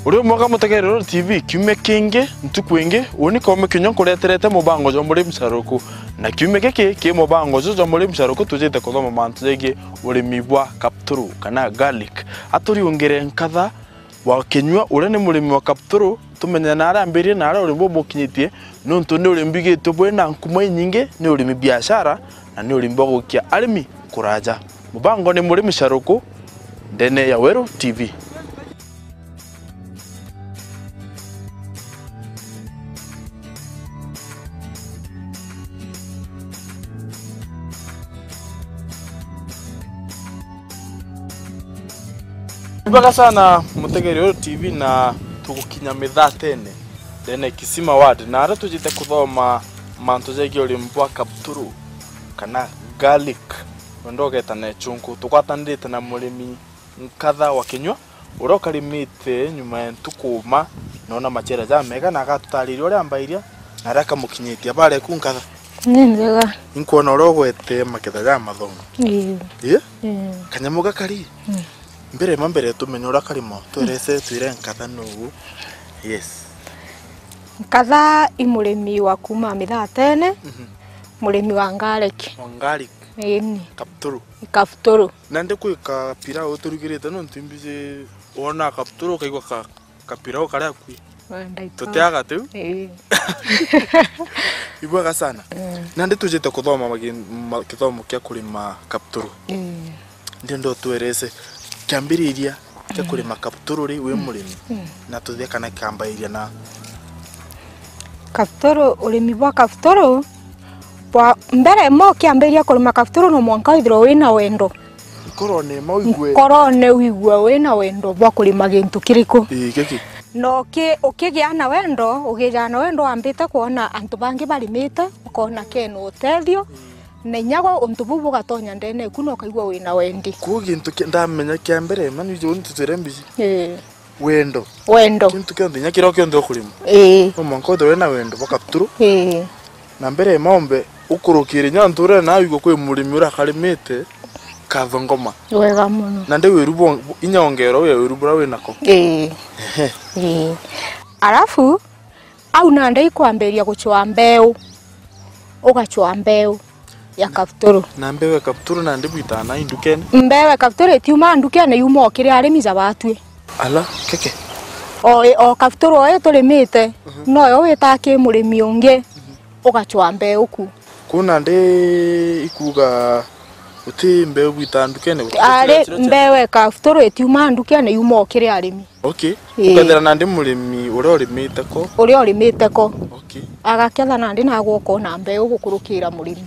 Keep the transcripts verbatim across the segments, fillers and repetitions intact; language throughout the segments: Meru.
Uri umwega mutegeri Ruuru T V, kiumia kingi, ntuku ingi, uni Koome Kinyua nkureterete mubango jwa murimi caruku. Na kiumia giki ki mubango juju jwa murimi caruku tujite kuthoma mantu jegie urimi bwa kapturu kana garlic. Aturiungire nkatha wa Kinyua, uria ni murimi wa kapturu, tumenye na aria ambiririe na aria urimi buu bukinyitie, niuntu ni urimi bwigitwe bwina nkuma inyingi, ni urimi biashara, na ni urimi bwa gukia arimi kuraja. Mubango ni murimi caruku ndene ya Weru T V. Ibwega sana mutegeri Weru T V, na tugukinya mithatene ndene Kisima Ward, na aria tujite kuthoma mantu jegie urimi bwa kapturu kana garlic, wenda ugeta na ichunku. Tugwatanirite na murimi nkatha wa Kinyua, uria ukarimite nyuma ya ntuku uma, noona maciara jamega, na agatutariria uria ambairia na aria akamukinyitie. Habari eku nkatha? Ni njega. Inkwona uria ugwete maketha jamathongo. Ii. Ii? Ii. Kanyamu gakari? Mm. Mbere ma mbere tumenye uria karimo, twerese twire nkatha nuu. Yes. Nkatha i murimi wa kuuma mithatene, mhm, murimi wa ngariki. Wa ngariki. Ii ni. Kapturu. Kapturu. Nandi kwi kapirau uturugirite nontu imbiji wona kapturu ukaigua ka, kapirau karia kwi. Wenda itu. Tutiaga tu? Ii. Ibwega sana. Mm. Nandi tujite kuthoma magi-, ma-, kithomo kia kurima kapturu. Ii. Ndienda utwerese kiambiriria kia, mm, kurima kapturu ri wi, mm, murimi, mm, na tuthie kana kambairia na kapturu, urimi bwa kapturu bwa mbere mo kiambiriria kurima kapturu no mwanka withirwe wina wendo. Nkorone ma wigue. Nkorone wigue wina wendo bwa kurima gintu kiriku. Ii, giki. Na uki-, ukigia na wendo, ugijaga na wendo wambite kwona antu bangi barimite, ukona kena utethio, mm, na inya gwe untu buu bugatonya ndene eku na ukaigua wina wendi. Kuu gintu ki-, ndamenya kia mbere, mani iji uni tutwire mbici. Ii. Wendo. Wendo. Kintu kionthe, inya kiria kionthe ukurima. Ii. No mwanka withirwe wina wendo bwa kapturu. Ii. Na mbere ya maombe, ukurukire inya nturene nawe igwe kwi murimi uria akarimite kathongoma. Wega mono. Na ndi wiru bo-, inya ongera uya wiru buria winako. Ii. Ehe. Ii. Alafu, au nandi ikwambiria gucwaa mbeu. Ugacwaa mbeu ya kapturu. Na mbeu ya kapturu nandi bwitaa na indukene? Mbeu ya kapturu itiumaa ndukene, yumaa o kiri arimi ja batwi. Ala, keke. O, o kapturu o ii turimite, mhm, noyo witaa ki murimi ungi, mhm, ugacwaa mbeu ku. Kuu nandi ikuuga guti mbeu bwitaa ndukene, guti. Ari, kira, kira, kira. Mbeu ya kapturu itiumaa ndukene, yumaa o kiri arimi. Okay. Ii. Ukethira nandi murimi uria urimite ko. Uria urimite ko. Okay. Agaketha nandi nagwe ukona mbeu gukurukira murimi.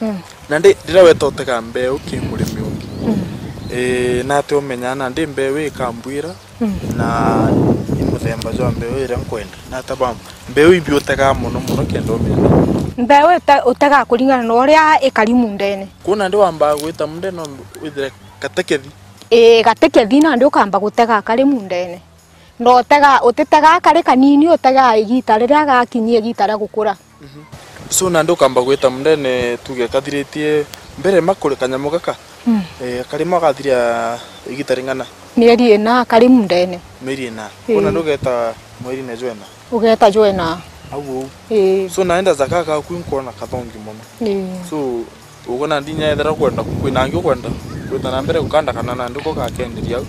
Mm. Nandi riria weta utega mbeu ki murimi ungi. Mm. Ii, nati umenyaa nandi mbeu ikambwira, mm, na i muthemba jwa mbeu iria nkwenda. Nata ba mbeu ibi utegaa mono mono kenda umenya? Mbeu ite-, utegaa kuringana na uria ikari mundene. Kuu nandi wambaa gwita mundene no withire gatekethi? Ii, gatekethi nandi ukamba gutega kari mundene. Na utega, utitegaa kari kanini, utegaa igita riria gakinyia igita ria gukura. Mhm. So, nandi ukamba gwita mundene, tuge kathiritie mbere ma kuri kanyamu gaka, mm, eh, karima gathiria igita ring'ana? Mieri ina kari mundene. Mieri ina. Ii. Kuu nandi ugeta mweri na jwena? Ugeta jwena. Au uu. Ii. So, naenda zaka gaku nkwona kathongi mono. Ii. So, uguo nandi inya ethira ukwenda, kwina angi ukwenda gwita na mbere gukanda kana nandi uko gakenderia au?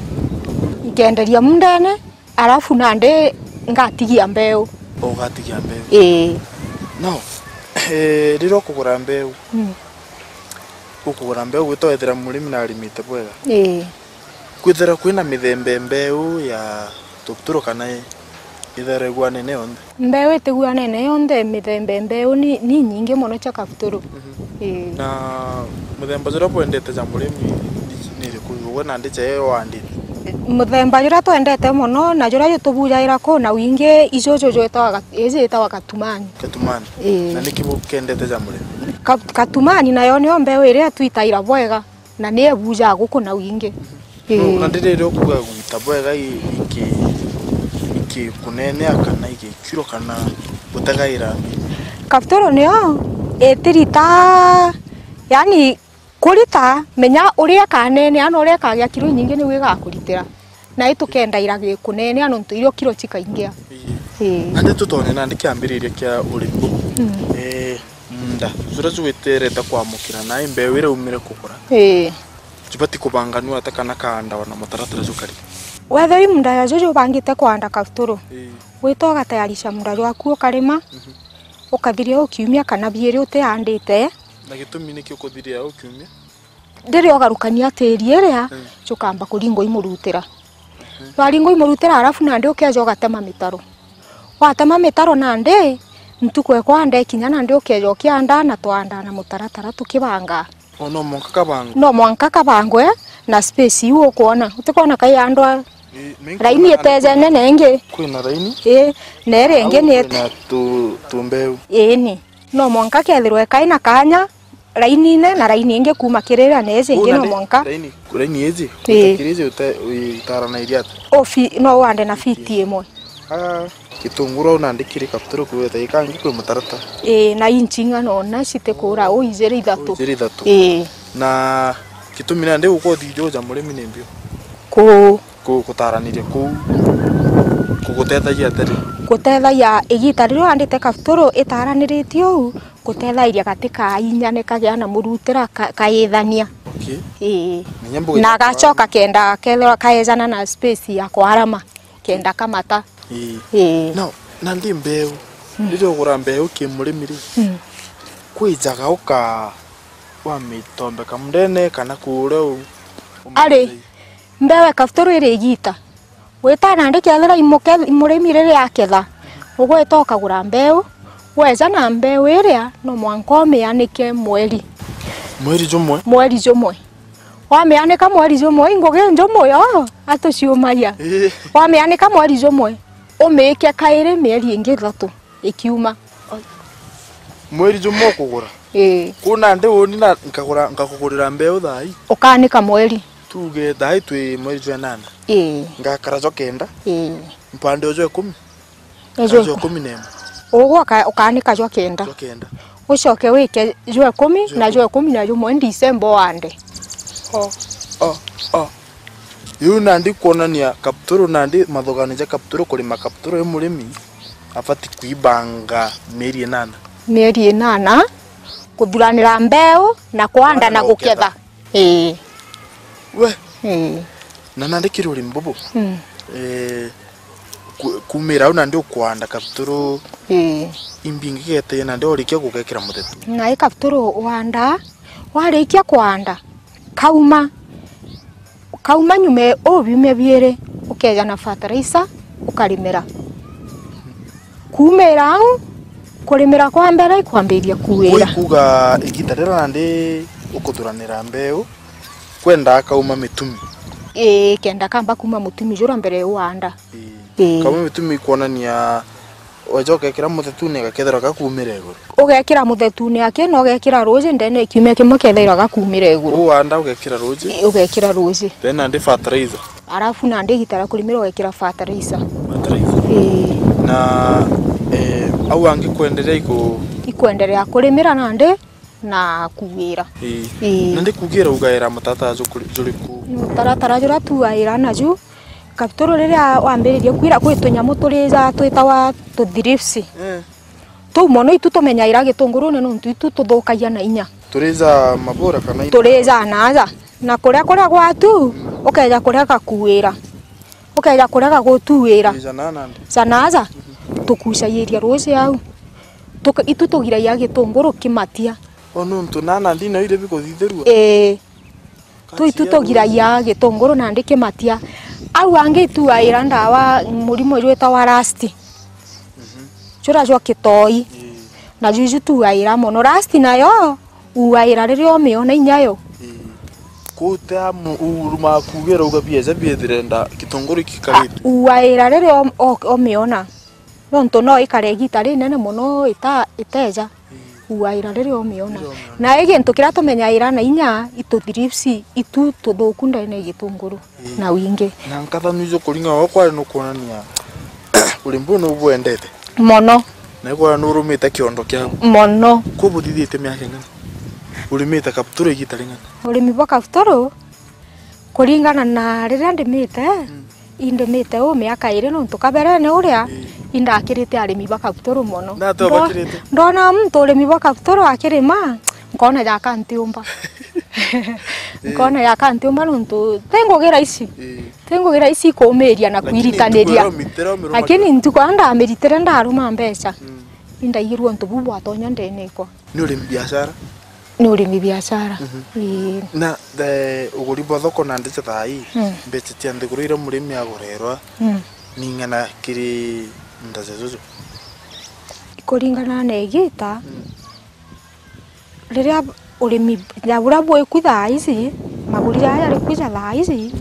Nkenderia mundene, alafu nandi ngatigia mbeu. Ugatigia mbeu? Ii. Now, eh, riria ukugura mbeu, mm, ukugura mbeu gwita wethira murimi na arimite bwega? Ii. Kwithira kwina mithemba ya mbeu ya tupturo kana i-, ithira iguanene yonthe? Mbeu itiguanene yonthe, mithemba ya mbeu ni, ni nyingi mono cia kapturo. Mhm. Ii. Na muthemba juria bwendete ja murimi ni, ni iriku? Ugwe nandi ja iyo wandite? Muthemba juria twendete mono na juria jutubujagira ku na wingi ijuju jwitawa gat-, iji yitawa katumani. Katumani? Ii. Na niki bukendete ja murimi? Ka-, katumani nayo niyo mbeu iria twitaira bwega. Na ni ebujaga guku na wingi. Ii. No, na ndi riria ukuga gwita bwega i-, iki-, ikikunenea kana igikiro kana gutegaira? Kaptoro niyo itirita, yani, kurita, menya uria ikanenea na uria ikagia kiro inyingi niu igakuritira. Na itukendaira gikunenea nontu irio kiro cikaingia. Ii. Ii. Nandi tutonye nandi kiambiriria kia urimi buu. Mm. Eh, munda juria jugwiterete kwamukira nai mbeu iria umire kugura. Ii. Jubati kubanganua ata kana kaandawa na mutaratara jukari? Wethira i munda ya juju ubangite kwanda kabuturu, ii, wita ugatayarisha munda jwaku ukarima, mhm, ukathiria u kiumia kana biiri utiandite. Na gitumi niki ukuthiria u kiumia? Riria ugarukania tiri iria, mm, jukamba kuringwa i murutira. Mhm. Jwaringwa i murutira, arafu nandi ukeja ugatema mitaro. Watema mitaro nandi, ntuku ekwanda ikinya nandi ukeja ukiandaa na twandaa na mutaratara tukibangaa. O, no mwanka kabangwe? No mwanka kabangwe na space iu ukwona. Utikwona kaiandwa? Ii, mi nkwona raini nandi itejene na ingi. Kwina raini? Ii, na iria ingi. Au ni kwina tu, tumbeu? Iini. No mwanka kethirwe kaina kanya, raini ine na raini ingi kuuma kiri iria na iji ingi no mwanka. Raini, raini iji, ii, utakiri iji uta-, itaranairie ata? Ufi-, no wande na fiti imwe. Ah, gitunguru au nandi kiri kabuturu kuweta ikangi kwi mutaratara. Ii, na inchi ing'ana ona citikura, u ijiri ithatu. U ijiri ithatu. Ii. Na gitumi nandi ukothi ijo ja murimi ni mbio? Ku- Ku-, gutaraniria kuu kugutethagia atia riu? Gutethagia igita riria wandite kabuturu itaraniritie uu, gutethairia gati kainya ni kagea na murutira ka-, kaithania. Okay. Ii. Menya mbuge na agacoka kenda kethirwa kaejana na space ya kwarama, kenda kamata. Ii. Ii. Now, nandi mbeu, mm, riria ugura mbeu ki murimi ri, mm, kwijaga uka-, wamitombeka mundene kana kuuria u-, ari, umithei? Mbeu ya kabuturu iri igita. Wita nandi kethira imuke-, murimi riria aketha, ugwita ukagura mbeu, weja na mbeu iria no mwanka umianike mweri. Mweri jumwe? Mweri jumwe. Wamianika mweri jumwe, i ngugi njumu yo, atuciumagia. Ii. Wamianika mweri jumwe, umiike kairi mieri ingi ithatu ikiuma. Mweri jumwe ukugura? Ii. Kuu nandi uni na nkagura, nkakugurira mbeu thaa ii? Ukaanika mweri. Tuuge thaa ii twi mweri jwa inana. Ii. Ngakara jwa kenda. Ii. Mpande o jwa ikumi? Ejo. Kana jwa ikumi na imwe? Ugwe uka-, ukaanika jwa kenda. Jwa kenda. Ucoke wike jwa ikumi na jwa ikumi na jumwe December uande. O, o, o. Riu nandi kwonania kabuturu nandi, mathugano ja kabuturu, kurima kabuturu i murimi abati kwibanga mieri inana. Mieri inana, kuthuranira mbeu na kwanda na guketha. Ii. We. Ii. Na nandi kiri urimi bubu. Mm. Eh, ku-, kumira au nandi ukwanda kabuturu. Ii. Imbingi geteje nandi urikia gugekira muthetu. Na i kabuturu wanda, warikia kwanda, kauma, kauma nyume o biumia biiri, ukeja na fertilizer, ukarimira. Kuumira au, kurimira kwa mbere ikwambiria kuuira. Ui kuuga igita riria nandi ukuthuranira mbeu, kwenda kauma mitumi? Ii, kenda kamba kuuma mutumi juria mbere uanda. Ii. Ii. Kauma mitumi ikwonania weja ugekira muthetune gakethirwa gakuumira iguru. Ugekira muthetune aki na ugekira ruuji ndene ya kiumia kimwe kethirwa gakuumira iguru. Uanda ugekira ruuji? Ii, ugekira ruuji. Then nandi fertilizer? Arafu nandi igita ria kurimira ugekira fertilizer. Fertilizer. Ii. Na, eh, au angi kwenderea iku- Ikwenderea kurimira nandi na kuuira. Ii. Ii. Nandi kuuira ugaira mutaratara jukuri-, juriku? Mutaratara juria tuuaira naju, kabuturu riria wambiririe kuuira, kwi tunyamu turija twitawa tu thrips. Eh. Tuu mono itu tumenyaira gitungurune nontu itu tuthukagia na inya. Turija mabura kana i- Turija naaja. Na kuria, kuria gwatu, mm, ukeja kuria gakuuira. Ukeja kuria gagutuuira. Turija na nandi. Ja naaja, tukucagiria ruuji au. Tuka-, itu tugiragia gitunguru kimatia. O nontu na nandi no iria bikuthithirua? Ii. Tu itu tugiragia gitunguru nandi kimatia. Au angi ituaira ndawa murimo jwitawa rust. Mhm. Jura jwa kitoi. Ii. Na juju tuaira mono. Rust nayo uaira riria umiona inya yo. Ii. Kuuta mu-, uruma kuugira uga bieja biethire nda gitunguru ikikarite. A, uaira riria om-, o-, umiona. Nontu no ikare igita rinene mono ita-, iteja. Ii. Uaira riria umiona. Riria umiona. Na i gintu kiria tumenyaira na inya itu thrips itu tuthuku ndene ya gitunguru. Ii. Na wingi. Na nkatha nwijo kuringa o kwari nukwonania urimi buu nubwendete. Mono. Na ikwona nurumite kiondo kiaku. Mono. Kuu buthithitie miaka ing'ana? Urimite kabuturu igita ring'ana? Urimi bwa kabuturu, kuringana na riria ndimite, mm, Indimite uu miaka iri nontu kaberene uria, ii, indakirite arimi ba kapturu mono. Na ati ubakirite? Ndo-, ndona muntu urimi bwa kapturu akirima, nkona jaka ntiumba. Ii. Nkona jaka ntiumba nontu ti ngugi rahisi. Ii. Ti ngugi rahisi kuumiria na lakini kwiritaniria. Ntuku iria umitire umiruma. Lakini ntuku iria ndamiritire ndaruma mbeca, mm, indaigirue untu buu bwatonya ndene ikwa. Ni urimi biashara? Ni urimi biashara. Mhm. Ii. Na, eh, uguri bwa thoko nandi cia thaa ii, mm, mbeca cia nthiguru iria murimi agurerwa, mm, ni ing'ana kiri munda cia juju? Ikuringana na igita, mm, riria urimi, ja buria bwiku thaa ici, maguri jaria jari kwija thaa ici,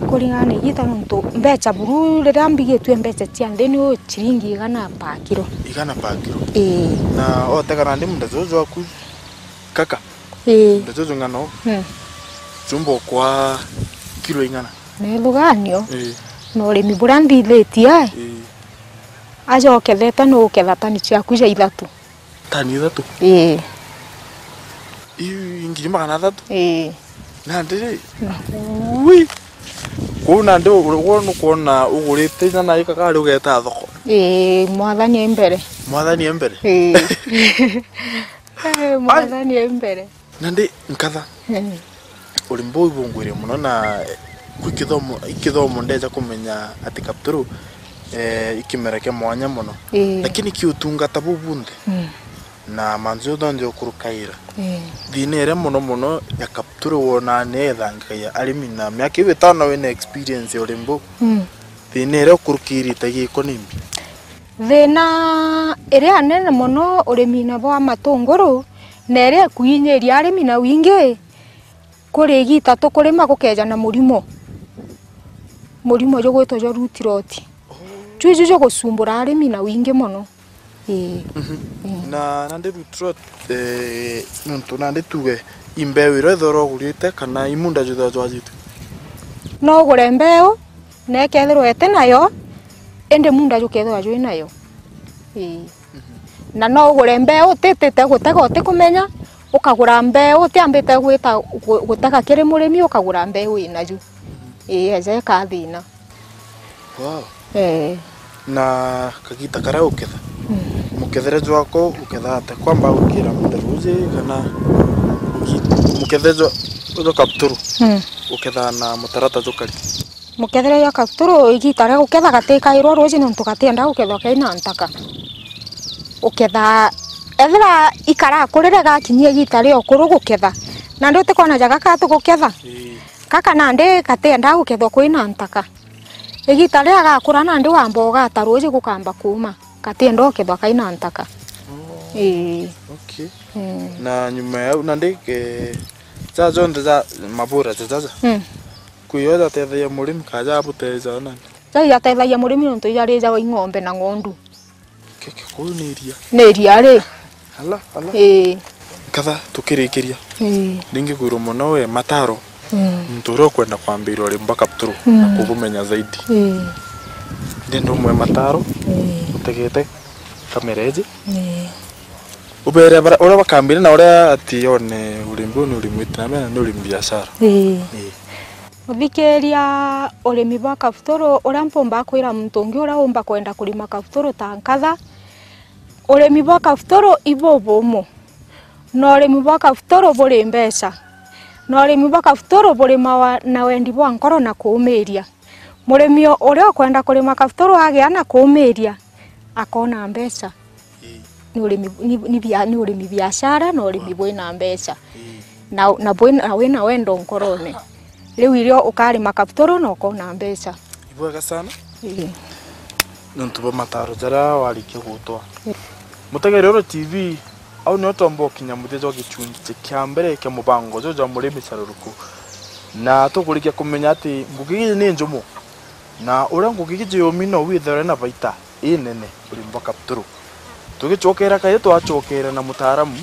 ikuringana na igita nontu mbeca buru riria mbigitue mbeca cia nthi ni ciringi igana pa kiro. Igana pa kiro? Ii. Na otega nandi munda juju jwaku kaka? Ii. Munda juju ng'ano? Mm. Jumba ukwa kiro igana? Nethuganio? Ii. Na urimi buria nthithitie, ii, aja ukethete ni uketha tani ciaku ja ithatu. Tani ithatu? Ii. Iu ngiri magana athatu? Ii. Nandi ri? Mm. Ui! Kwou nandi u-, u-, nukwona ugurite inya na ika kari ugeta thoko? Ii, mwathani e mbere. Mwathani e mbere? Ii. Ai! Mwathani e mbere. Nandi nkatha. Mm. Urimi buu ibungwire mono na, eh, kwi kithomo, i kithomo ndeja kumenya ati kapturu, eh, i kimera kia mwanya mono. Ii. Lakini ki utungata buu bunthe, mm, na mantu jonthe nthi ukurukaira. Ii. Thina iria mono mono ya kapturu wonaa ni ithangikagia arimi na miaka iu itano wina experience ya urimi buu. Mm. Thina iria ukurukirite giko ni mbi? Thina iria nene mono urimine bwa matunguru, na iria ikuinyiria arimi na wingi, kuri igita tukurima gukeja na murimo. Murimo jugwitwa jwa root rot. Juu iju jugucumbura arimi na wingi mono. Ii. Mhm. Ii. Na nandi root rot, eh, nontu nandi tuge i mbeu iria ithirwa ugurite kana i munda jwithirwa jwajite? No ugure mbeu, na ikethirwa iti nayo, indi munda jukethirwa jwi nayo. Ii. Mhm. Na no ugure mbeu utitite gutega utikumenya, ukagura mbeu utiambite gwita gu-, gutega kiri murimi, ukagura mbeu inaju. Mhm. Ii, eja ika thina. Wow. Ee. Na kagita karia uketha? Mm. Mukethere jwako uketha atia? Kwamba gwikira munda ruuji kana ugi-, mukethere jwa, jwa kapturu? Mm. Uketha na mutarata jukari? Mukethere jwa kapturu, igita ria guketha gatikairwa ruuji nontu gatienda gukethwa kaina ntaka. Uketha, ethira ikarakurire gakinyia igita ria ukuru guketha, nandi utikwona ja gaka tuguketha? Ii. Gaka nandi gatienda gukethwa kwina ntaka. Igita riria gakura nandi wamba ugata ruuji gukamba kuuma. Gatienda ukethwa kaina ntaka. Oh. Ii. Okay. Mm. Na nyuma ya u nandi, eh, ja jonthe ja mabura ja jaja? Mm. Kwi yo jatethagia murimi kana ja buteja nani? Ja jatethagia murimi nontu ijarijagwa i ng'ombe na ng'ondu. Keke, kuu ni iria? Ni iria ri? Ala, ala. Ii. Nkatha tukirikiria. Ii. Ningi kwirwa mono we mataro. Mm. Muntu uria ukwenda kwambiria urimi bwa kapturu, mm, na kubumenya zaidi. Ii. Ndenda umwe mataro, ii, utegete kamera iji. Ii. Ubere bara-, uria bakambiria na uria ati yone urimi buu ni urimi wite na mbere na ni urimi biashara. Ii. Ii. Uthikiria urimi bwa kapturu, uria mpumba kwira muntu ungi uria umba kwenda kurima kapturu ta nkatha, urimi bwa kapturu ibubumu, na urimi bwa kapturu buri mbeca, na urimi bwa kapturu burimawa na wendi bwa nkoro na kuumiria. Murimi uria ukwenda kurima kapturu agia na kuumiria, akona mbeca. Ii. Ni urimi, ni, ni bia-, ni urimi biashara na urimi, ah, bwina mbeca. Ii. Na, na bwina, na wina wendo nkorone. Riu irio ukarima kapturu na ukona mbeca. Ibwega sana. Ii. Nontu bwa mataro jaria warikia gutwa. Ii. Mutegeri Oro T V, au nio twomba gukinya muthia jwa gichunji kia mbere kia mubango juju jwa Murimi Caruruku. Na tukurikia kumenya ati ngugi iji ni njumu. Na uria ngugi iji yumi no withirwe na baita inene urimi bwa kapturu. Tugicokera kairi twacokera na mutaaramu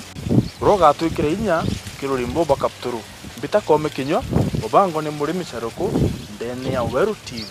uria ugatwikira inya kiri urimi bwa kapturu. Mbita Kome Kinyua, mubango ni Murimi Caruruku, ndene ya Weru T V.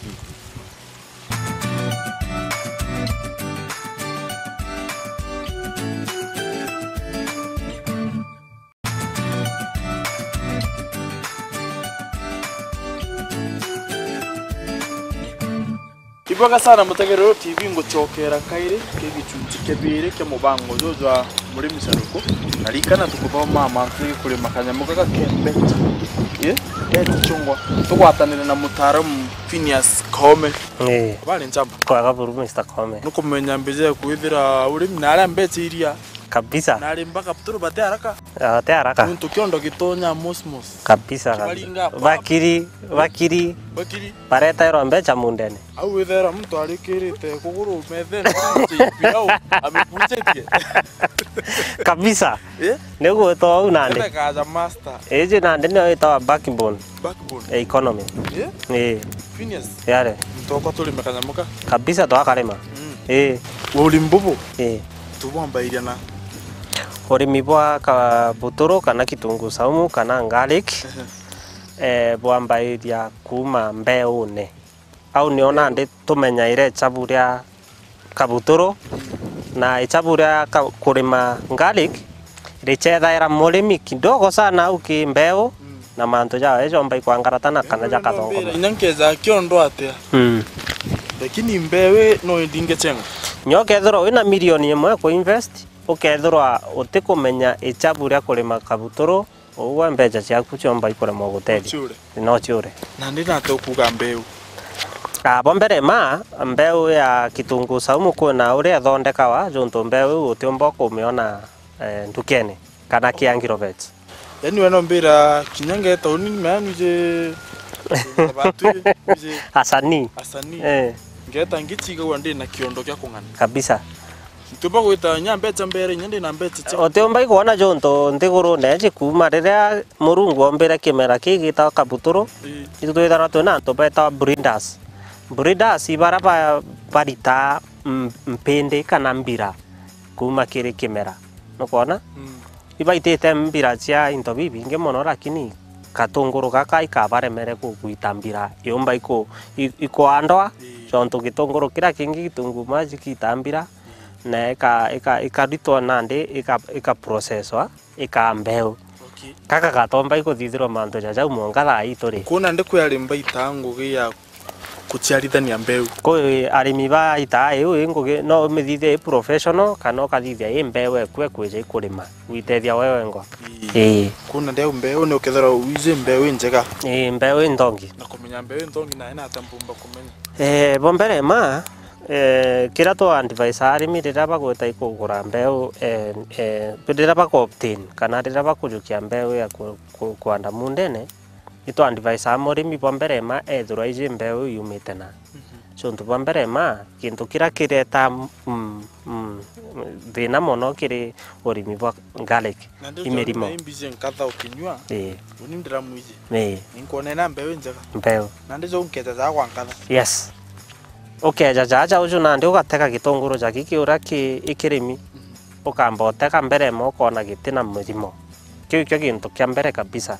Ibwega sana mutegerero T V, ngucokera kairi ki gicunci kia biiri kia mubango juju jwa murimi caruku. Na rikana tukuthoma mantu jegii kurima kanyamu gaka ke mbeca. Ii? Mbeca chungwa. Tugwatanire na mutaaramu Phineas Koome. Ii. Habari njamba? Kwega buru, Mister Koome. Nukumenya mbeca ya kwithira urimi na aria mbeca iria. Kabisa. Na arimba kabuturu bati haraka. Ah, bati haraka. Nuntu kiondo gitonya mosmos. Kabisa, kabisa. Kibaringa pa- Bakiri, bakiri. Bakiri. Bareterwa mbeca mundene. Au withera muntu arikirite kuguru methene, pirau, amekuchetie. Kabisa. Eh? Niguo to au nandi. Ebe kaja master. Iji nandi niyo itawa backbone. Backbone. Ya economy. Eh? Eh. Phineas. Yare. Ntoko turime kanyamu ka. Kabisa twakarima. Mm. Eh. Urimi bubu. Eh. Tubwambairia na. Urimi bwa kabuturu kana kitunguu saumu kana garlic, ehe, eh, bwambairia kuuma mbeune. Au nio nandi tumenyaire ichabu ria kabuturu, na ichabu ria ka-, kurima garlic richethaira murimi kidogo sana au ki mbeu, mm, na mantu jawe jomba ikwangaratana kana jakathongoma. Inya nkeja kiondo atia? Mm. Lakini mbeu no indinge chengo. Nyo kethirwa wina milioni imwe ku invest, ukethirwa utikumenya ichabu ria kurima kabuturu, Ugwe mbeca ciaku ciomba ikuremwa gutethia. No ciure. No ciure. Nandi nate ukuga mbeu? Ah, bo mbere ma, mbeu ya kitunguu saumu kwina uria ithondekawa, juntu mbeu iu utiumba kumiona, eh, ndukene, kana ki agrovet. Yaani we no mbira kinya nge tauni, man, uje, batu, uje. Asanii. Asanii. Eh. Ngeta ngichigagua ndi na kiondo kia kung'ana. Kabisa. Ntiumba gwita inya mbeca mbere, inya ndi na mbeca cia. Utiumba ikwona juntu nthigurune iji kuuma riria Murungu ombire kimera kii gitagwa kabuturu, ii, itu twithagirwa twina antu betagwa breeders. Breeders i baria ba-, baritaa m-, mpindi kana mbira kuuma kiri kimera. Nukwona? Mm. Ibaitite mbira cia into bibingi mono, lakini katunguru gaka ikabaremere ku-, kuita mbira. Yumba iku-, i-, ikwandwa, ii, jontu gitunguru kiria kingi, kitunguu maji kiita mbira, na ika-, ika-, ikaritwa nandi, ika-, ikaprocesswa, ikaa mbeu. Okay. Gaka gatomba ikuthithirwa mantu ja jau mwanka thaa ii turi. Kwona ndi kwi arimi baitaa ngugi ya kuciarithania mbeu? Kwi arimi baitaa iu i ngugi, no umithithie i professional, kana ukathithia i mbeu eku ekwija ikurima, gwitethia we wengwa. Ii. Ii. Kwona ndi au mbeu ni ukethirwa wiji mbeu injega. Ii, mbeu inthongi. Na kumenya mbeu inthongi nae nata mbumba kumenya? Eh, bo mbere ma, Eh, kiria twa advise arimi riria bagwita ikugura mbeu, eh, eh, riria baku obtain kana riria bakujukia mbeu ya ku-, ku-, kwanda mundene, ni twa advise murimi bwa mbere ma ethirwa iji mbeu yumite na. Mhm. So, untu bwa mbere ma, kintu kiria kireta, mm, mm, thina mono kiri urimi bwa garlic. Na ndio i mirimo. Ndio imbize nkatha ukinyua. Ii. Uni ndiramwiji. Ii. Ninkuona ina mbeu njega. Mbeu. Na ndijo nkeja ja kwa nkatha. Yes. Ukeja jaja uju nandi ugatega gitunguru ja giki uria ki ikirimi. Mhm. Ukamba utega mbere mo ukona gitina mirimo. Kiu ikio gintu kia mbere kabisa.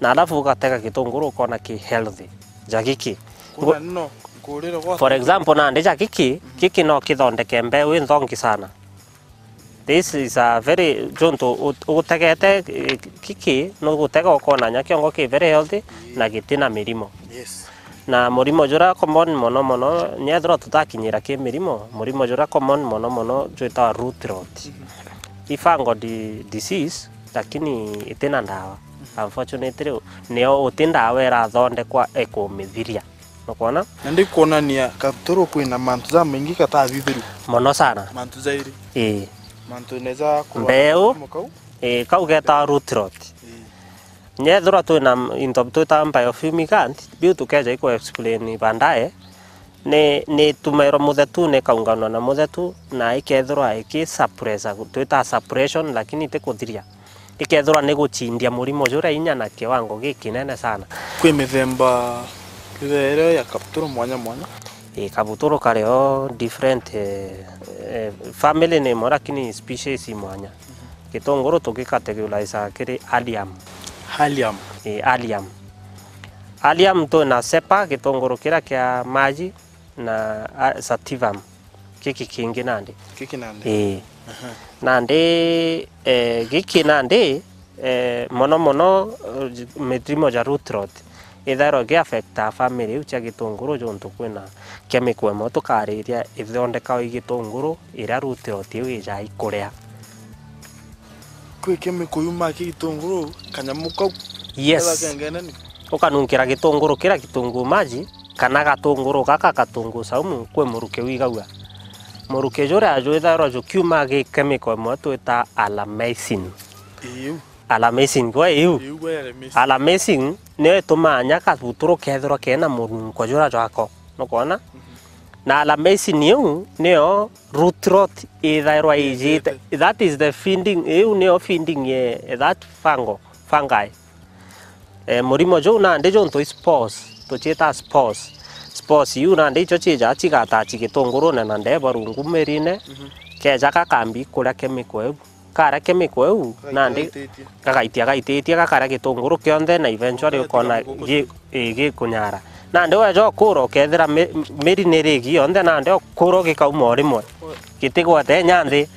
Na alafu ugatega gitunguru ukona ki healthy. Ja giki. Kuna nno, nkurire gwa. For example, nandi ja giki, mhm, giki no kithondeke mbeu inthongi sana. This is a very, juntu ut-, ugutegete, eh, kiki, nugutega ukona nya kiongo ki very healthy, ii, na gitina mirimo. Yes. Na murimo juria common mono mono, nyethirwa tutakinyira ki mirimo, murimo juria common mono mono jwitawa root rot. Mhm. I fungal di-, disease, lakini itina ndawa. Mhm. Unfortunately, nio uti ndawa irathondekwa ikumithiria. Nukwona? Na ndikwonania kabuturu kwina mantu jamaingi gatathithiru. Mono sana. Mantu jairi. Ii. Mantu neja kurwa mbeu, kau. Ii, kau getawa root rot. Ii. Nyethirwa twina into twitaga biofumigant, biu tukeja iku explain baadaye, ni, ni itumairwa muthetune, ikaunganwa na muthetu, na ikethirwa iki suppressa, twitaga suppression, lakini ti kuthiria. Ikethirwa ni guchindia murimo juria inya na kiwango gikinene sana. Kwi mithemba iria ya kabuturu mwanya mwanya? Ii, kabuturu kari o different, eh, eh, family ni imwe lakini species i mwanya. Mhm. Gitunguru tugicategorize kiri Allium. Allium. Ii, Allium. Allium twina Cepa, gitunguru kiria kia maji, na, a, Sativum. Giki kingi nandi. Giki nandi. Ii. Aha. Nandi, eh, giki nandi, eh, mono mono, eh, mirimo ja root rot. ithairwa iki affecta family iu cia gitunguru, juntu kwina chemical imwe tukariria ithondekawa i gitunguru, iria root rot iu ijaa ikuria. Kwi chemical yumaa ki gitunguru, kanyamu kau. Yes. Ketha kengene ni? Ukanunkira gitunguru kiria kitunguu maji, kana gatunguru gaka gatunguu saumu, kwi muruki wigagua. Muruki juria jwithairwa jukiuma gi chemical imwe twita alamaisin. Iu. Alamaisin, gwe iu? Iu gwe alamaisin. Alamaisin niyo itumaa nya kabuturu kethirwa kena mununko juria jwako. Nukwona? Mhm. Na alamaisin iu niyo root rot ithairwa ijite. Ijite. That is the feeding, iu niyo feeding ye that fungo, fungi. Eh, murimo juu nandi juntu i spores, tuciita spores. Spores iu nandi icio ciija cigatachi gitungurune na ndebo rungu mirine, mhm, keja gakambi kuria chemical iu. Karia chemical iu, nandi gagaitia, gaititie, gakaria gitunguru kionthe, na eventually ukona gi-, ii, gikunyara. Nandi weja ukura ukethira mi-, miri ni rigi yonthe, nandi ukura ugikauma o rimwe. Gitigwate inya nthi.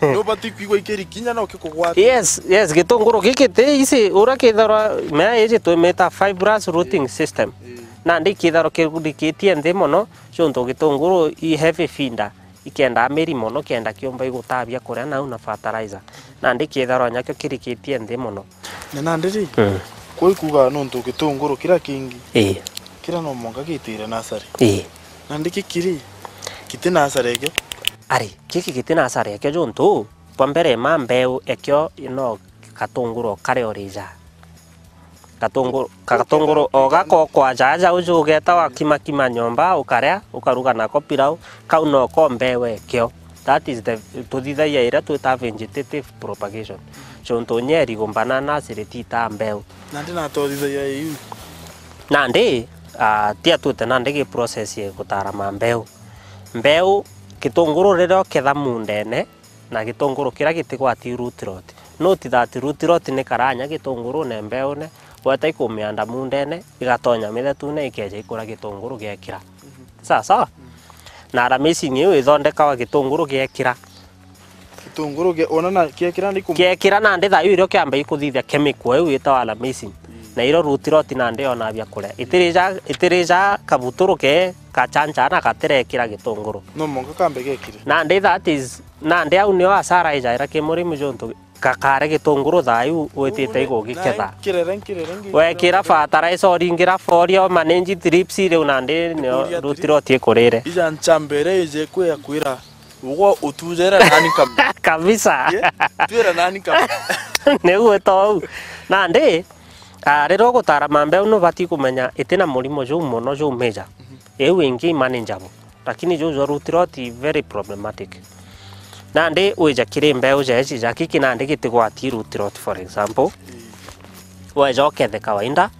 Nubati kwigua ikiri kinya no kikugwata. Yes, yes, gitunguru giki ti isi, uria kithirwa, mea iji twimita fibrous rooting system. Ii. Nandi kithirwa kirikitie nthi mono, juntu gitunguru i heavy feeder, ikendaa miri mono kenda kiumba igutavia kuria nau na fertilizer. Nandi kithirwa nyakio kirikitie nthi mono. Na nandi ri, mm, kwi kuuga nuntu gitunguru kiria kingi, ii, kiria no mwanka gitire nasari. Ii. Nandi giki ri, giti nasari ekio? Ari, giki giti nasari ekio juntu, bwa mbere ma mbeu ekio no gatunguru o karia urija. Gatunguru, ka-, gatunguru o gako kwaja aja uju ugeta wakimakima nyomba, ukaria, ukaruga nako pilau, kau noko mbeu ekio. That is the, tuthithagia iria twita vegetative propagation. Juntu nyeri gumbana na aciriti itaa mbeu. Nandi na tuthithagia iu. Nandi, ah, tia twite nandi gi process ya gutara ma mbeu. Mbeu, gitunguru riria uketha mundene, na gitunguru kiria gitigwati root rot. Note that root rot ni karanya gitungurune mbeune, weta ikumianda mundene, igatonya mithetune, ikeja ikura gitunguru giekira. Mhm. Sawa sawa? Mm. Na alamaisin iu ithondekawa gitunguru giekira. Gitunguru gia-, ona na giekira ni kum- Giekira nandi thayu irio kiamba ikuthithia chemical iu itawa alamaisin. Mm. Na irio root rot nandi yonaa bia kuria. Itirija, itirija kabuturu ke kachancha na gatirekira gitunguru. No mwanka kambe gekire. Nandi that is, nandi au nio asara ijaira ki murimi juntu gakare gitunguru thayu witite igugiketha. Wekira fertilizer, uringira foria, umanage thrips, riu nandi nio root rot ikurire. Ija nchambere ije kwia kwira, ugo utujera nani kam- Kabisa. Yeah, twira nani kam- Niguo tou. Nandi, ah, riria ugutara ma mbeu nubati kumenya itina murimo juu mono juu major. Mhm. Iu ingi manageable. Lakini juu jwa root rot very problematic. Nandi wija kiri mbeu jeji ja kiki nandi gitigwati root rot, for example. Ii. Weja ukethe kawaida,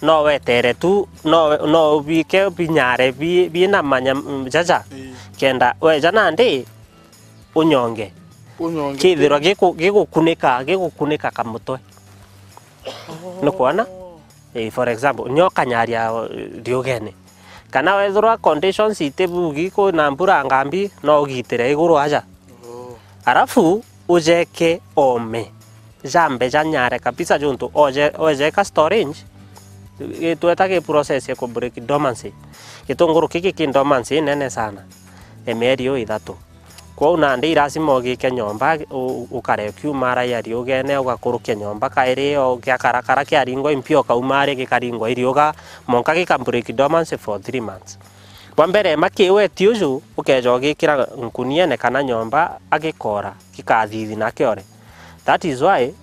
no wetere tu, no, no ubike binyare bi-, bina manya, mm, jaja. Ii. Kenda weja nandi unyonge. Unyonge. Kithirwa giku-, gigukunika, gigukunika kamutwe. Oh. Nukwona? Eh, for example, nyo kanyaria, eh, riugene. Kana wethirwa conditions itibugi, kwina mbura ngambi, no ugitire iguru aja. Oh. Arafu ujeke ome. Jambe janyare kabisa juntu oje-, ojeka storage, gitweta gi process ya ku break dormancy. Gitunguru kiki ki dormancy nene sana. Emieri yo ithatu. Kwou nandi i lazima ugike nyomba, u-, ukare ukiumara ya riugene, ugakurukia nyomba kairi, o giakarakara kiaringwa impio, ukaumara gikaringwa iriuga, mwanka gika break dormancy for three months. Bwa mbere, ma kiweti uju, ukeja ugikira nkuniene kana nyomba, agikora, gikathithina kiore. That is why,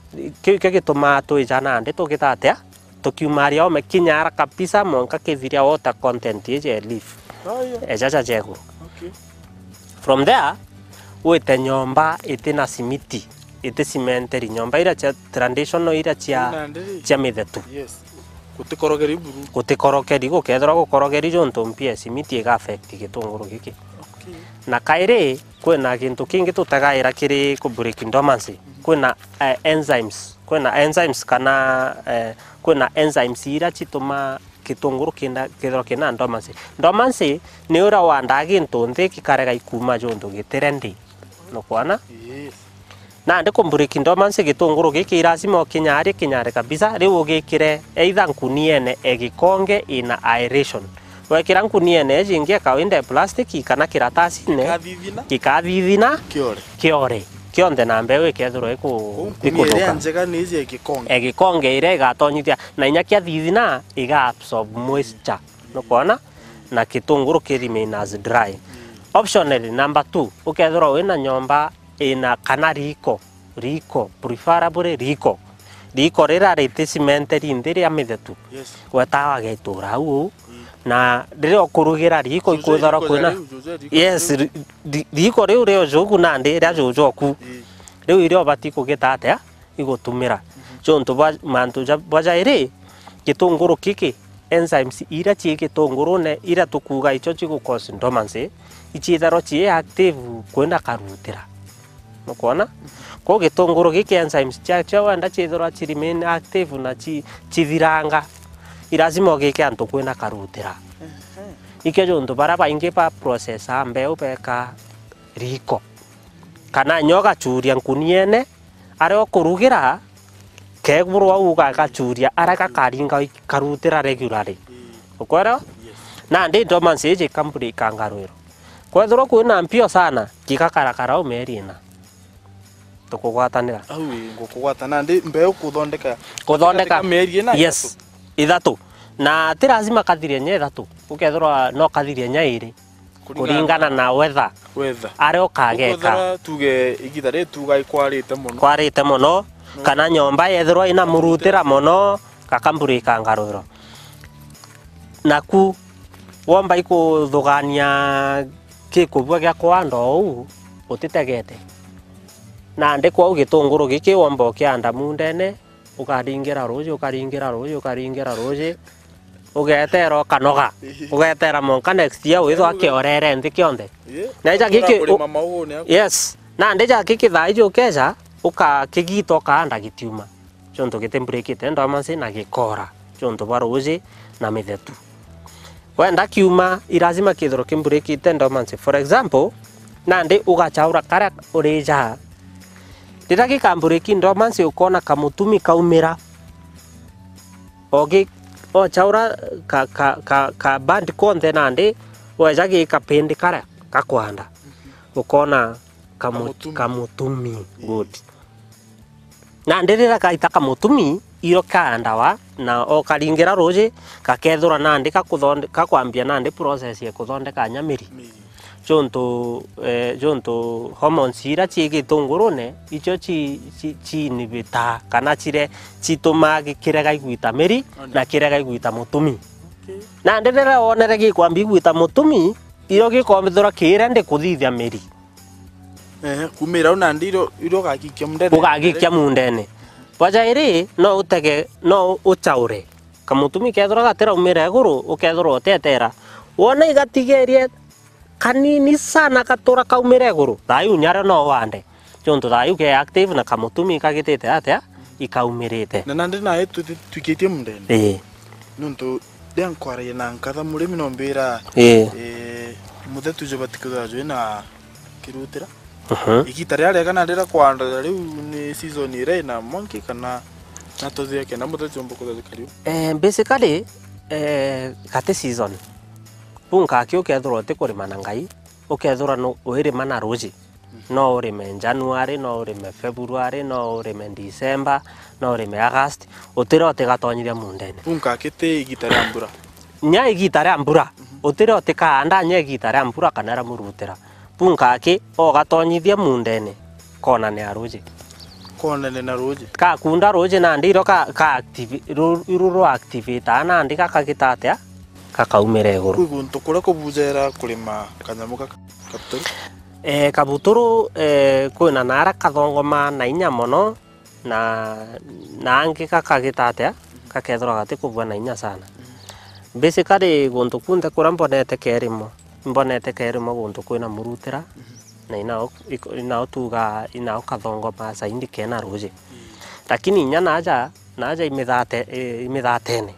kiu kio gitumaa twija nandi tugita atia? Tukiumaria ome kinyara kabisa, mwanka kithiria water content iji ya leaf. Aya. Ejaja jeguru. Okay. From there, wite nyomba itina simiti, iti cimenteri, nyomba iria cia traditional, iria cia, cia mithetu. Yes. Gutikorogeri buru. Gutikorogeri, gukethirwa gukorogeri juntu mpia ya simiti iga affect gitunguru giki. Okay. Na kairi, kwina gintu kingi tutegaira kiri ku break dormancy. Mhm. Kwina, eh, enzymes. Kwina enzymes kana, eh, kwina enzymes iria citumaa gitunguru kinda, kethirwa kina dormancy. Dormancy ni uria wandaa gintu nthi gikarega ikuma juntu giti ready. Nukwona? Yes. Nandi ku break dormancy gitunguru giki lazima ukinyare, kinyare kabisa, riu ugikire either nkuniene e gikonge ina aeration. Wekira nkuniene iji ingi e kawaida e plastic kana kiratasine, gikathithina, gikathithina, kiore, kiore kionthe, na mbeu ikethirwa iku-, ikuthukira. Ikuthukira. Njega ni iji e gikonge. E gikonge iria igatonyithia, na inya kiathithina iga absorb moisture. Nukwona? Na gitunguru ki remain as dry. Optionally, number two, ukethirwa wina nyomba ina kana riko, riko, preferably riko. Riko rira riti cimenteri nthi ria mithetu. Yes. Wetawa getura au uu. Mm. Na riria ukurugira riko, ikwithirwa kwina, yes, riko riu rio juku nandi ria juju oku. Mm. Riu iria ubati kugita atia? Igutumira. Mhm. Juntu bwa mantu ja, bwa jairi, gitunguru giki, enzymes iria cii gitungurune, iria tukuuga icio cigu cause dormancy, iciithirwa cii active kwina karutira. Nukwona? Mhm. Kwou gitunguru giki, enzymes ciacio wenda ciithirwa ci remain active na ci-, cithiranga, i lazima ugike antu kwina karutira. Mhm. Ikio juntu baria baingi ba process mbeu beka riko. Kana nyo gachuria nkuniene, aria ukurugira, kegurwa uu gagachuria, aria gakaringa karutira regularly. Mm. Ukwelewa? Yes. Nandi dormancy iji ikamburi ikangarwirwa. Kwethirwa kwina mpio sana, gigakarakara o mieri ina. Tukugwatanira. Au ii, ngukugwata nandi mbeu kuthondeka. Kuthondeka. Katika mieri ina, yes, ithatu. Ithatu. Na ti lazima kathirie nya ithatu. Ukethirwa no kathirie nya iri. Kuringana na weather. Weather. Aria ukageka. Ukwethira tuge igita riri tuga ikwarite mono. Kwarite mono, mm, kana nyomba yethirwa ina murutira mono, gakamburi ikangarwirwa. Naku womba ikuthugania gikubua gia kwanda uu utitegete. Nandi kwou gitunguru giki womba ukianda mundene, ukaringira ruuji, ukaringira ruuji, ukaringira ruuji, ugeetera ukanoga. Ihi. Ugeetera mwanka next year withwa kiorere nthi kionthe. Ii. Na ija giki kurima maugune aku. Yes. Nandi ja giki thaa iji ukeja, ukakigita ukaanda gitiuma. Juntu gitimburiikite dormancy na gikoora. Juntu bwa ruuji na mithetu. Wenda kiuma, i lazima kithirwe kimburiikite dormancy. For example, nandi ugachaura karia urija. Riria gikamburiiki dormancy, ukoona kamutumi kaumira. Ogi, ochaura ka, ka, ka, ka band konthe nandi, weja gi kapindi karia gakwanda. Ukoona kamu-, kamutumi. Kamutumi. Good. Nandi riria gaita kamutumi, iro kaandawa, na okaringira ruuji, gakethirwa nandi gakuthonde-, gakwambia nandi process ya kuthondeka nya miri. Miri. Juntu, eh, juntu hormones iria cii gitungurune, icio ci, ci, ciinhibitaa, kana cire, citumaa gi-, kirega igwita miri, na kirega igwita mutumi. Okay. Nandi riria wonere gikwambia igwita mutumi, iro gikombithirwa kiire ndi kuthithia miri. Ehe, kumira au nandi iro, iro ugagikia mundene. Ugagikia mundene. Bwa jairi, no utege, no uchaure. Kamutumi kethirwa gatiraumira iguru, ukethirwa utetera. Wona igatigerie kanini sana gatura kaumira iguru, thayu nyario no wande. Juntu thayu ke active na kamutumi kagitite atia, ikaumirite. Na nandi nae twi-, twikitie mundene. Ii. Nuntu Riria nkwaragia na nkatha murimi, no mbira, ii, eh, muthetu jo batikithira jwi na kirutira. Mhm. Igita riria riega na riria kwanda riu ni season iria ina mwanki kana na tuthia kenda muthetu jomba kuthetheka riu? Eh, basically, eh, gati season. Bu nkaki ukethirwa uti kurima na ngai, ukethirwa nu-, wirima na ruji. No urime January, no urime February, no urime December, no urime August, utira utigatonyithia mundene. Unka kiti igita ria mbura. Nya igita ria mbura, mhm, utira utikaanda nya igita ria mbura kana ria murutira. Bunka aki, ugatonyithia mundene, konane na ruji. Konane na ruji. Kakunda ruji nandi iro ka, ka active, ru-, iru ru activate nandi gakagita atia? Gakaumira iguru. Kwi guntu kuria kubujera kurima kanyamu gaka? Kabuturu? Eh, kabuturu, eh, kwina naara kathongoma na inya mono, na, na angi gakagita atia, gakethirwa gatikubua na inya sana. Basically, guntu kunthe kuria mbonete kerimo, mbonete kerimo guntu kwina murutira, na inao, iko-, inao tuga, inao kathongoma zaidi kena ruji. Lakini inya naja, naja imithate-, i-, imithatene.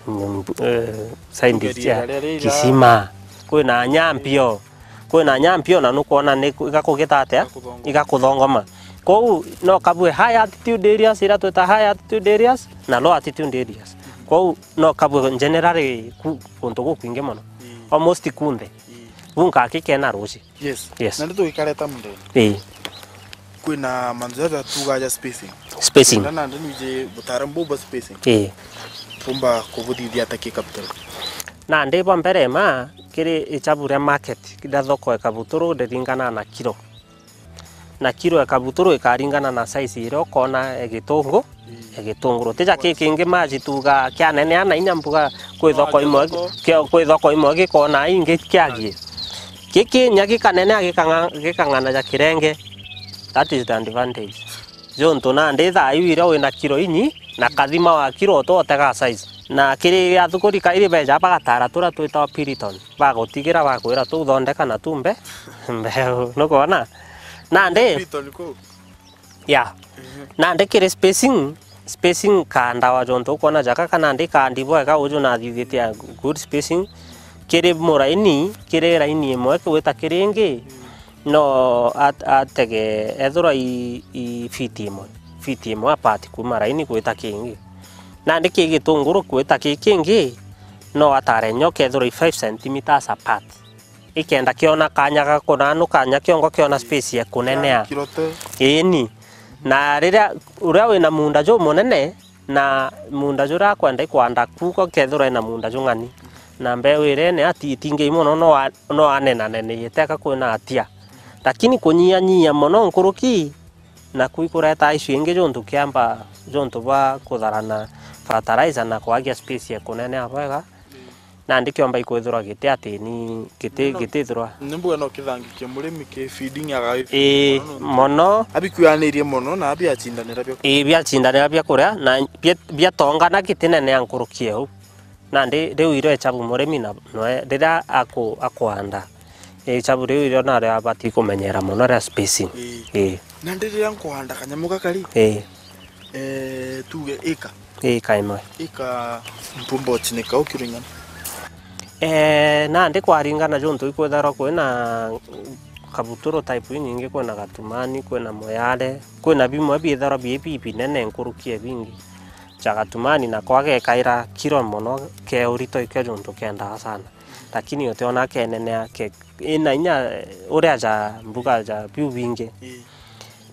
Mm, eh, scientist ya kisima. Kwina nyampio. Kwina nyampio na nukwona ni ku-, igakugita atia? Igakuthongoma. Igakuthongoma. Kwou no kabue high altitude areas, iria twita high altitude areas, na low altitude areas. Kwou no kabue generally ku-, kuntu gukwingi mono. Mm. Almost kunthe. Mm. Buu nkakikena ruuji. Yes. Yes. Na ndeto ikareta mundene. Ii. Kwina mantu jaja tuuga ja spacing. Spacing. Kenda nandi nwiji butaaramu buu bwa spacing. Ii. Tumba kubuthithia ata ki capital? Nandi bwa mbere ma, kiri ichabu ria market, kenda thoko e Kabuturu ndiringana na kiro. Na kiro e Kabuturu ikaringana na size iria ukoona e gitungu, e gitunguru. Ti ja ki kingi maji tuuga kianenea na inya mbuga kwi thoko imwe, kio-, kwi thoko imwe gikoona ingi kiagie. Giki inya gikanenea gikang'a-, gikang'ana ja kirenge. That is the advantage. Juntu nandi thaa iu iria wina kiro inyi, na kathima wa kiro utotega size. Na kiri athuguri kairi beja bagatara turia twitagwa Piriton. Bagutigira bakwira tuthondeka na tumbe mbeu. Nukwona? Nandi Piriton kuu? Ya. Mhm. Nandi kiri spacing, spacing kaandawa jontu ukwona jaka kana ndi kaandi bwega uju nathithitie a good spacing. Kiri muraini, kiri raini imwe gwita kiri ingi, no at-, atege ethirwa i, i fiti imwe, fiti imwe apart kuuma raini gwita kingi. Nandi ki gitunguru gwita ki kingi, no atare nyo kethirwa i five centimeters apart. Ikenda kiona kanya ga kunanuka, nya kiongo kiona space ya kunenea. Kiro te. Iini. Na riria, uria wina muunda jumunene, na muunda juria akwenda ikwanda kuko kethirwa ina muunda jung'ani. Na mbeu iria ene ati itingi mono no a-, no anenanene iteka kwina atia. Lakini kunyihanyihia mono nkuruki, naku ikureta issue ingi juntu kiamba, juntu bwa kutharana fertilizer na kwagia space ya kunenea bwega. Nandi kiomba ikwithirwa giti ati ni giti, no, gitithirwa. Ni mbuga no kithangikie murimi ki feeding aga. Ii, mono. Abikwanirie mono na abiachindanira bia. Ii, biachindanira bia kuria na bia, biatongana gitinenea nkuruki eu. Nandi riu iro echabu murimi na noe riria aku-, akwanda. Echabu riu iro nario abati kumenyera mono ria spacing. Ii. Ii. Nandi riria nkwanda kanyamu gaka ri? Ii. Eh, tuge ika. Ika imwe. Ika mpumba uchinika ukiri ng'ana? Eh, nandi kwaringana juntu ikwithirwa kwina Kabuturu type inyingi, kwina Gatumani, kwina Moyale, kwina bimwe biithirwa bi, bi binene nkuruki e bingi. Cha Gatumani nako agekaira kiro mono ke urito ikio juntu kendaa sana. Lakini utiona kenenea ke, ina inya, eh, uria ja mbuga ja biu bingi. Ii.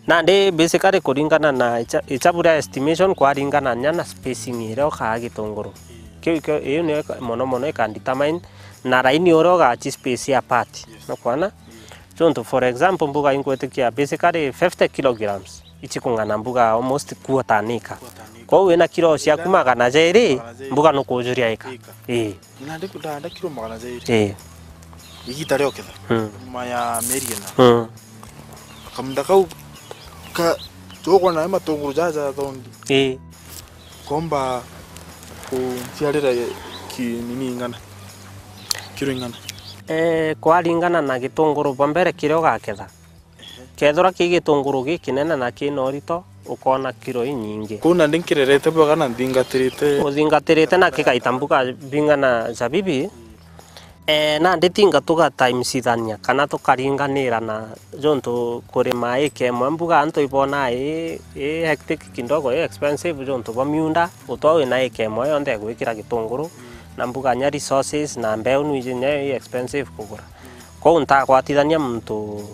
Nandi basically kuringana na icha-, ichabu ria estimation kwaringana nya na spacing iria ukaa gitunguru. Ii. Kiu ikio, iu niyo ika-, mono mono ika determine na raini uria ugachi space apart. Yes. Nukwona? Ii. Juntu for example mbuga ingwitikia basically fifty kilograms. Ichikung'ana mbuga almost quarter an acre. Quarter an acre. Kwou wina kiro ciaku magana jairi, magana jairi, mbuga nukujuria ika. Ika. Ii. Nandi kundanda kiro magana jairi. Ii. Igita ria uketha. Mm. Nyuma ya mieri ina. Mm. Kamunda kau ka, tugwa nayo matunguru jaja thondi. Ii. Komba kunciarira ki nini ing'ana. Kiro ing'ana. Eh, kwaringana na gitunguru bwa mbere kiria ugaketha. Kethirwa ki gitunguru gikinene na kina urito, ukoona kiro inyingi. Kuu nandi nkirerete bwega na nthingatirite. Uthingatirite na kikaita mbuga bing'ana zabibi. Eh, nandi tinga tuga times ithania kana tukaringanira na juntu kurima ika imwe mbuga antu ibonaa i, i hectic kidogo, i expensive juntu bwa miunda, utwa wina ika imwe yonthe ya gwikira gitunguru, na mbuga nya resources na mbeu nwiji nya i expensive kugura. Kwou ntagwatithania muntu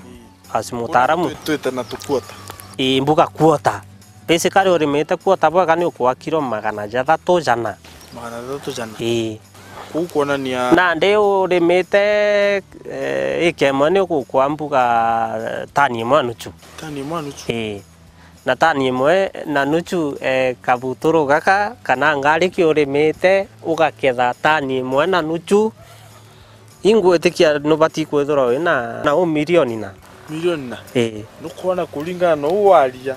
as mutaaramu. Twi-, twite na tukuota. Ii, mbuga kuota. Basically urimite kuota bwega ni ukua kiro magana jathatu jana. Magana jathatu jana? Ii. Kuu kuonania. Nandi urimite, eh, ika imwe ni ugukua mbuga, eh, tani imwe na nuchu. Tani imwe na nuchu? Ii. Na tani imwe na nuchu, eh, kabuturu gaka kana ngariki urimite ugaketha tani imwe na nuchu. Ingwitikia nubati kwithirwa wina na u milioni na. Milioni na? Ii. Nukwona kuringana na uu waria.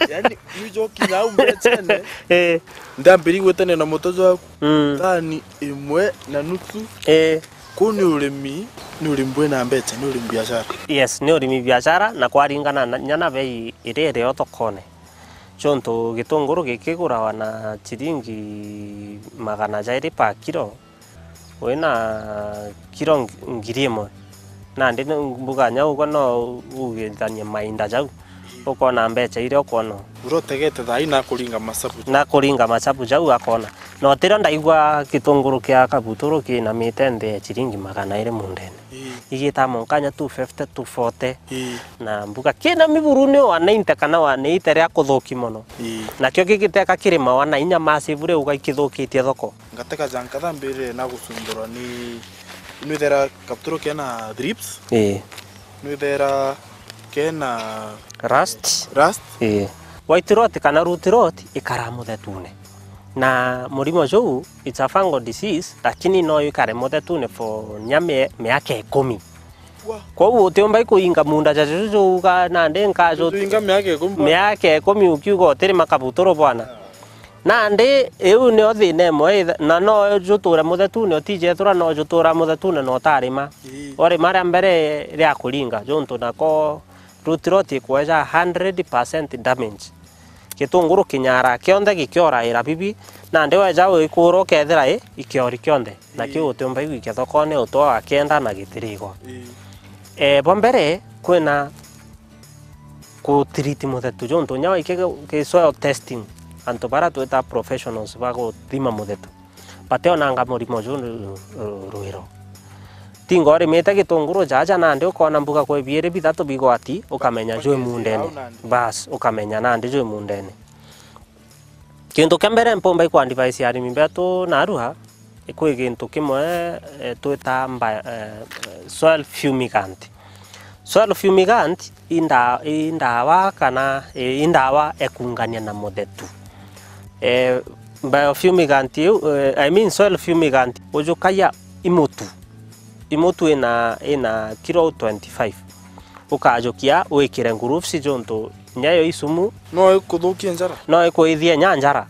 Yaani, nujokinya au mbechene. Ii. Ndambiri gwitania na mutojo waku. Mm. Tani imwe na nusu. Ii. Kuu ni urimi, ni urimi bwina mbecha, ni urimi biashara. Yes, ni urimi biashara, na kwaringana na, nya na bei iria irio thokone. Chontu gitunguru gikigurawa na chiringi magana jairi per kilo, wina kilo ng-, ngiri imwe. Nandi ni mbuga nya ugwe no ugithanie mainda jau. Ukona mbeca iria ukona. Uria utegete thaa ii nakuringa macabu. Nakuringa macabu jau akona. Na utirio ndaigua gitunguru kia kabuturu kinamite nthi ya ciringi magana iri mundene. Ii. Igita monkanya two fifty, two forty. Ii. Na mbuga kina miburu ni wa ninety kana wa eighty ria kuthuki mono. Ii. Nakio gigiteka kirima wa na inya massive riu uga ikithukitie thoko. Ngateka ja nkatha mbirire na gucumbirwa ni, nwithera kabuturu kena thrips. Ii. Nwithera kena rust. Rust. Ii. White rot kana root rot ikara muthetune. Na murimo juu, it's a fungal disease, lakini no ikare muthetune for nya mie-, miaka ikumi. Wa. Kwou utiumba ikuinga munda ja juju juuga nandi nkajuinga miaka ikumi bwana. Miaka ikumi ukiuga utirima kabuturu bwana. Nandi iu nio thina imwe itha-, na no juture muthetune, utijethura no jutura muthetune na utarima. Ii. Urima ria mbere ria kuringa, juntu nako root rot ikweja hundred percent damage. Gitunguru kinyara kionthe gikioraira bibi, nandi weja wikura ukethira i ikiori kionthe. Na kiu utiumba igwikia thokone utwa wa kenda na gitirigwa. Ii. Eh, bwa mbere, kwina kutiriti muthetu, juntu nya wike ki soil testing, antu bara twita professionals ba guthima muthetu, bationanga murimo ju ru-, ru-, rwiro. Tinga urimite gitunguru jaja nandi ukona mbuga kwi biiri bithatu bigwati, ukamenya jwi mundene. Bas, ukamenya nandi jwi mundene. Kintu kia mbere mpumba iku advise arimi betu narua, kwi gintu kimwe, eh, twita mba-, eh, soil fumigant. Soil fumigant i nda-, i ndawa kana, eh, i ndawa ekungania na muthetu. Eh, biofumigant iu, eh, I mean soil fumigant, ujukagia imutu. Imutu ina, ina kilo twenty-five. Ukajukia wikire gloves juntu nyayo isumu. No ikuthukie njara. No ikuithie nya njara.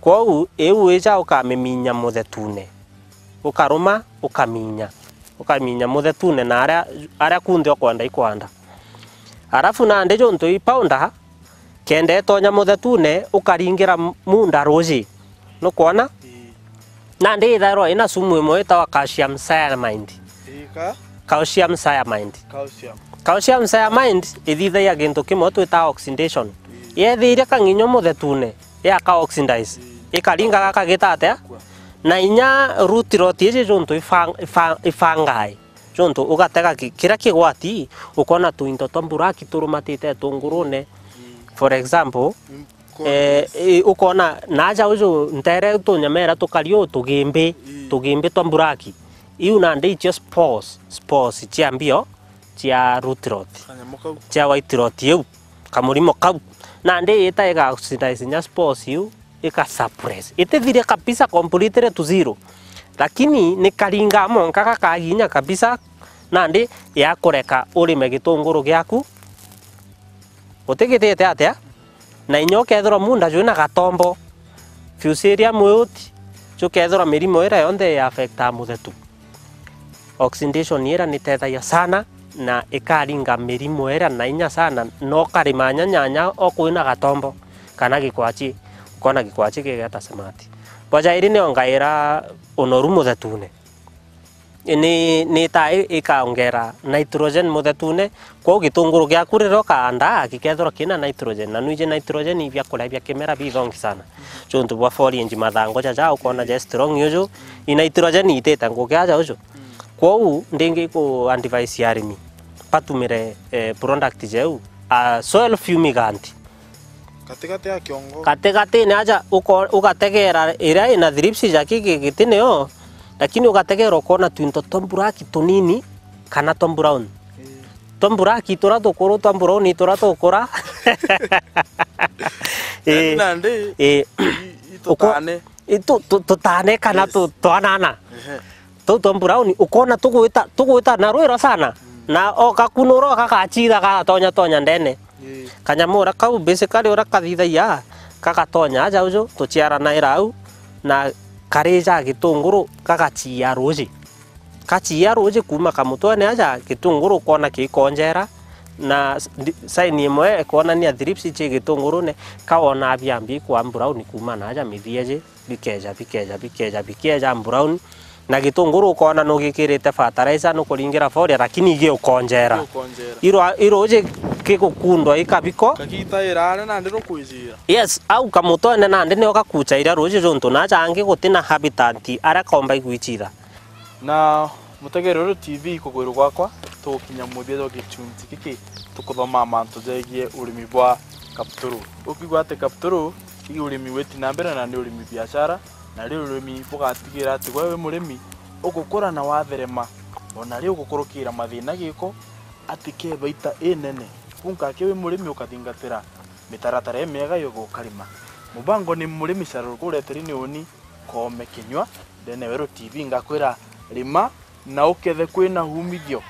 Kwou iu wija ukamiminya muthetune. Ukaruma, ukaminya. Ukaminya muthetune na aria, aria kunthe ukwenda ikwanda. Arafu nandi juntu i powder, kenda itonya muthetune, ukaringira munda ruji. Nukwona? Ii. Nandi ithairwa ina sumu imwe itawa calcium cyanide. Ii, ka? Calcium cyanide. Calcium. Calcium cyanide ithithagia gintu kimwe twitaga oxidation. Ii. Yethiria kang'inyo muthetune, yaka oxidize. Ii. Ikaringa gaka gita atia? Kwa. Na inya root rot iji juntu ifang-, ifa-, ifangai. Juntu ugatega ki-, kiria kigwati, ukona tuinto twa mburaki turumatite tungurune. For example, eh, eh, ukona naja uju ntere tunyamera tukari uu tugimbi, tugimbi twa mburaki. Iu nandi icio spores, spores cia mbio cia root rot, kanyamu kau, cia white rot iu, kamurimo kau. Nandi ita iga oxidize nya spores iu, ika suppress. Itithiria kabisa completely to zero. Lakini ni karinga monka gakaginya kabisa, nandi ya kureka urime gitunguru giaku utigitite atia, na inya ukethirwa munda jwina gatombo, fusarium wilt, jukethirwa mirimo ira yonthe ya affecta muthetu. Oxidation ira nitethagia sana na ikaringa mirimo ira na inya sana, na ukarima nya nyanya o kwina gatombo kana gikwachi, ukona gikwachi gigeta smart. Bwa jairi ni ongaira unoru muthetune. Ni, ni ta i-, ikaongera nitrogen muthetune, kwou gitunguru giaku riria ukaandaa gikethirwa kina nitrogen, na nwiji nitrogen i biakuria bia kimera bithongi sana. Juntu bwa foliage, mathangu jaja ukona ja strong uju, i nitrogen itite ngugi aja uju. Kwou ndingi ku advise arimi batumire, eh, product jeu, a soil fumigant. Katigati ya kiongo. Katigatine aja uko-, ugategera iria ina thrips jaki gi-, gitine yo, lakini ugategera ukona twinto twa mburaki tunini kana twa brown. Ii. Twa mburaki turia tukuru, twa brown turia tukura. Ii. Nandi, ii, i-, i-, uko-, tutane. I tu-, tu-, tutane kana, yes, tu-, twanana. Ehe. Tuu twa brown, ukona tugwita, tugwita na rwiro sana. Mm. Na o kakunura o gakachitha gatonya tonya ndene. Ii. Kanyamu uria kau, basically uria kathithagia, gagatonya aja uju, tuchiaranaira au, na karija gitunguru, gagachia ruji. Gachia ruji kuma kamutwene aja, gitunguru ukona kikonjera, na s-, ndi-, sign imwe ikwonania thrips chi gitungurune, kawona biambi kwa brown kuma na aja mithia ji. Bikeja, bikeja, bikeja, bikeja brown. Na gitunguru ukona nugikirite fertilizer, nukuringira foliar, lakini igiukonjera. Igiukonjera. Iro, iro uji gigukundwa gikabiko. Kagita iraare nandi rukwijira. Yes, au kamutwene nandi nio gakuchaira ruuji juntu naja angi guti na habitat aria komba igwichira. Na mutegere uru T V kugwiru gwakwa, tugukinya muthia jwa gichunchi giki, tukuthomaa mantu jegie urimi bwa kapturu. Ukiigua ati kapturu, ii urimi witi na mbere na ni urimi biashara, na ri urimi bugatigira ati gwe wi murimi ugukura na watherema, ona ri ugukurukira mathina giko, ati ke baita inene. Kunka aki wi murimi ukathingatira mitaratara imiega yuga ukarima. Mubango ni murimi Sharon Kureteri ni uni, Koome Kinyua, ndene Weru T V ngakwira, rima na ukethe kwina umithio.